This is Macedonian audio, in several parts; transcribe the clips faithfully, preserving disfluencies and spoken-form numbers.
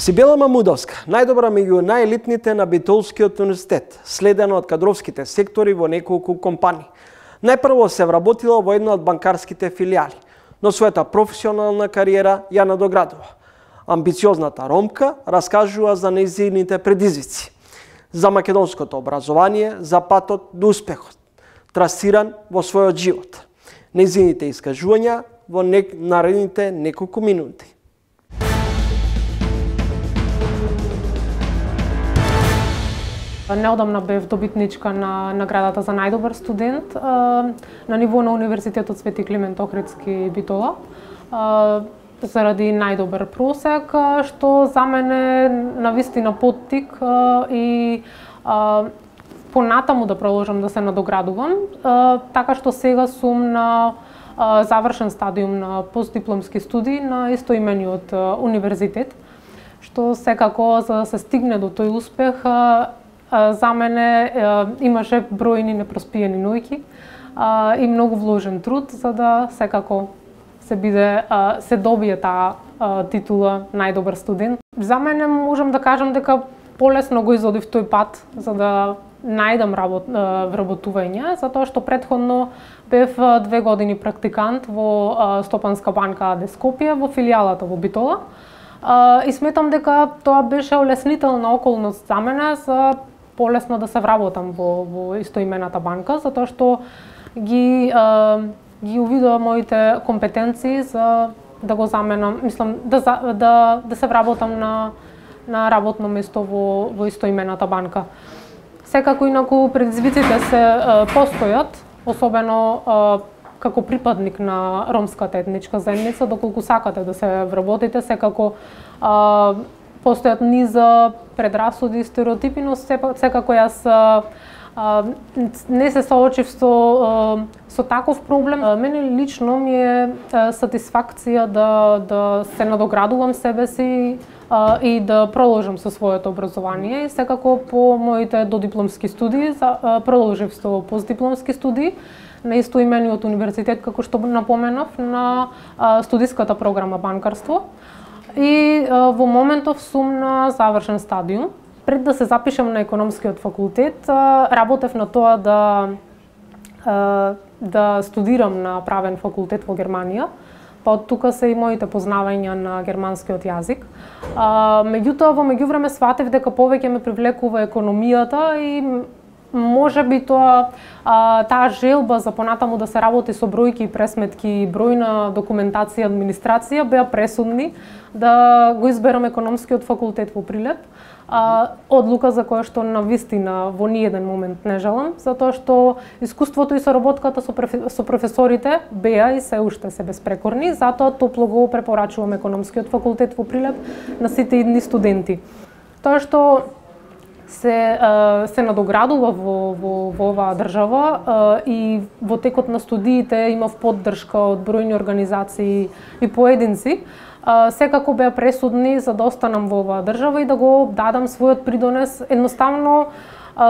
Сибела Мамудовска, најдобра меѓу најелитните на Битолскиот универзитет, следена од кадровските сектори во неколку компании. Најпрво се вработила во една од банкарските филијали, но својата професионална кариера ја надоградува. Амбициозната ромка раскажува за нејзините предизвици, за македонското образование, за патот до успехот, трасиран во својот живот. Нејзините искажувања во нек... наредните неколку минути. Неодамна бев добитничка на наградата за најдобар студент на ниво на Универзитетот Свети Климент Охридски Битола заради најдобар просек, што за мене навистина поттик и понатаму да продолжам да се надоградувам, така што сега сум на завршен стадиум на постдипломски студии на истоимениот универзитет, што секако за да се стигне до тој успех за мене имаше бројни непроспиени ноќи и многу вложен труд за да секако се биде се добие таа титула најдобар студент. За мене можам да кажам дека полесно го изодив тој пат за да најдам работ, вработување, затоа што претходно бев две години практикант во Стопанска банка АД Скопје во филијалата во Битола и сметам дека тоа беше олеснителна околност за мене за полесно да се вработам во, во истоимената банка, затоа што ги, а, ги увидува моите компетенции за да го заменам, мислам, да, да, да се вработам на, на работно место во, во истоимената банка. Секако инаку предизвиците се а, постојат, особено а, како припадник на ромската етничка заедница, доколку сакате да се вработите, секако а, постојат низа предрасуди и стереотипи, но секако јас а, а, не се соочив со, а, со таков проблем. А, мене лично ми е а, сатисфакција да, да се надоградувам себе си а, и да продолжам со своето образование. И секако по моите додипломски студии а, продолжив со постдипломски студии на истоимениот универзитет, како што напоменав, на а, студиската програма банкарство. И а, во моментов сум на завршен стадиум. Пред да се запишам на економскиот факултет, а, работев на тоа да а, да студирам на правен факултет во Германија. Па од тука се и моите познавања на германскиот јазик. А, меѓутоа во меѓувреме сватев дека повеќе ме привлекува економијата и може би тоа а, таа желба за понатаму да се работи со бројки и пресметки, бројна документација, администрација беа пресудни да го изберам економскиот факултет во Прилеп. А, одлука за која што навистина во ниеден момент не жалам, затоа што искуството и соработката со, со професорите беа и се уште се безпрекорни, затоа топло го препорачувам економскиот факултет во Прилеп на сите идни студенти. Тоа што се се надоградува во во во оваа држава и во текот на студиите имав поддршка од бројни организации и поединци, секако беа пресудни за да останам во оваа држава и да го дадам својот придонес. Едноставно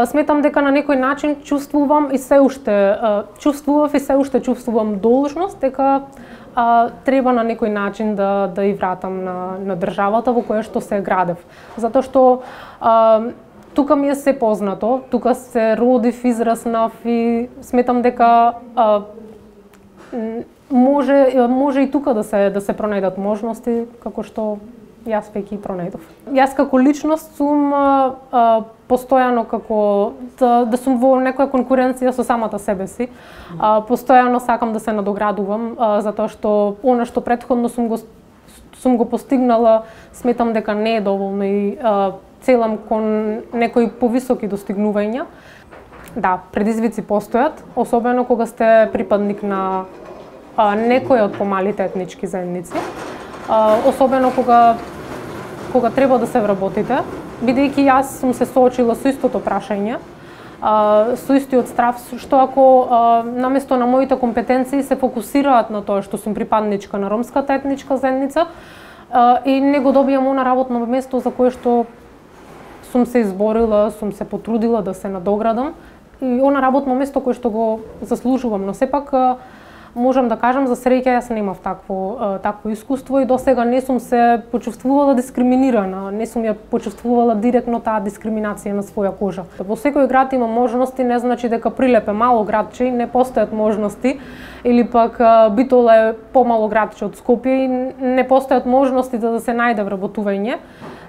сметам дека на некој начин чувствувам и се уште чувствував и се уште чувствувам должност дека а, треба на некој начин да да и вратам на на државата во која што се градев. Затоа што а, тука ми е се познато, тука се родив, израснав и сметам дека а, може може и тука да се да се пронајдат можности како што јас веќе пронајдов. Јас како личност сум а, а, постојано како да, да сум во некоја конкуренција со самата себе си. А, постојано сакам да се надоградувам а, затоа што она што претходно сум го сум го постигнала, сметам дека не е доволно и а, целам кон некои повисоки достигнувања. Да, предизвици постојат, особено кога сте припадник на а, некој од помалите етнички заедници. А, особено кога кога треба да се вработите, бидејќи јас сум се соочила со истото прашање, а, со истиот страв, што ако а, наместо на моите компетенции се фокусираат на тоа што сум припадничка на ромската етничка заедница а, и не го добијам она работно место за кое што сум се изборила, сум се потрудила да се надоградам и она работно место кое што го заслужувам, но сепак Можам да кажам за среќа јас немав такво такво искуство и досега не сум се почувствувала дискриминирана, не сум ја почувствувала директно таа дискриминација на своја кожа. Во секој град има можности, не значи дека Прилеп е мало градче и не постојат можности, или пак Битола е помало градче од Скопје и не постојат можности да се најде вработување.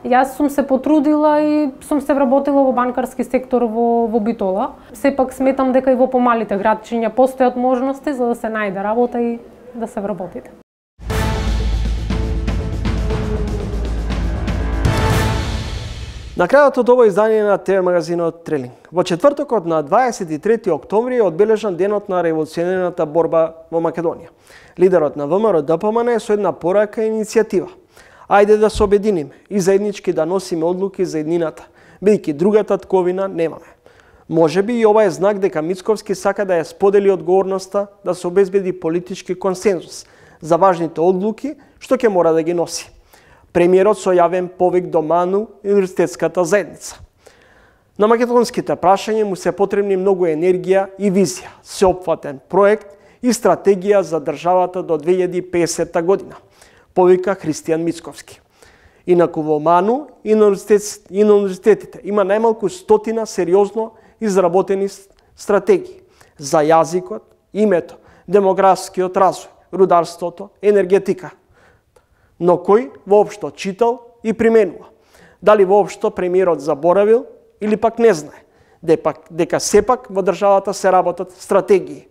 Јас сум се потрудила и сум се вработила во банкарски сектор во, во Битола. Сепак сметам дека и во помалите градчиња постојат можности за да се најде работа и да се вработите. На крајот од ова издание на ТВ магазинот Трелинг. Во четвртокот на дваесет и трети октомври е одбележан денот на револуционерната борба во Македонија. Лидерот на ВМРО Д П М Н е со една порака и иницијатива. Ајде да се обединиме и заеднички да носиме одлуки за еднината, бидејќи другата тковина немаме. Можеби и ова е знак дека Мицковски сака да ја сподели одговорноста да се обезбеди политички консензус за важните одлуки што ќе мора да ги носи. Премиерот со јавен повик до МАНУ и универзитетската заедница. На македонските прашања му се потребни многу енергија и визија, сеопфатен проект и стратегија за државата до две илјади и песета година, повика Христијан Мицковски. Инаку во МАНУ и на, и на универзитетите има најмалку стотина сериозно изработени стратегии за јазикот, името, демографскиот развој, рударството, енергетика. Но кој воопшто читал и применува? Дали воопшто премиерот заборавил или пак не знае дека, дека сепак во државата се работат стратегии,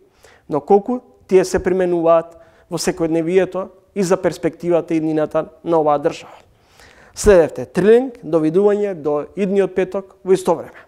но колку тие се применуваат во секојдневието и за перспективата и иднината на оваа држава. Следевте Трилинг, довидување до идниот петок во исто време.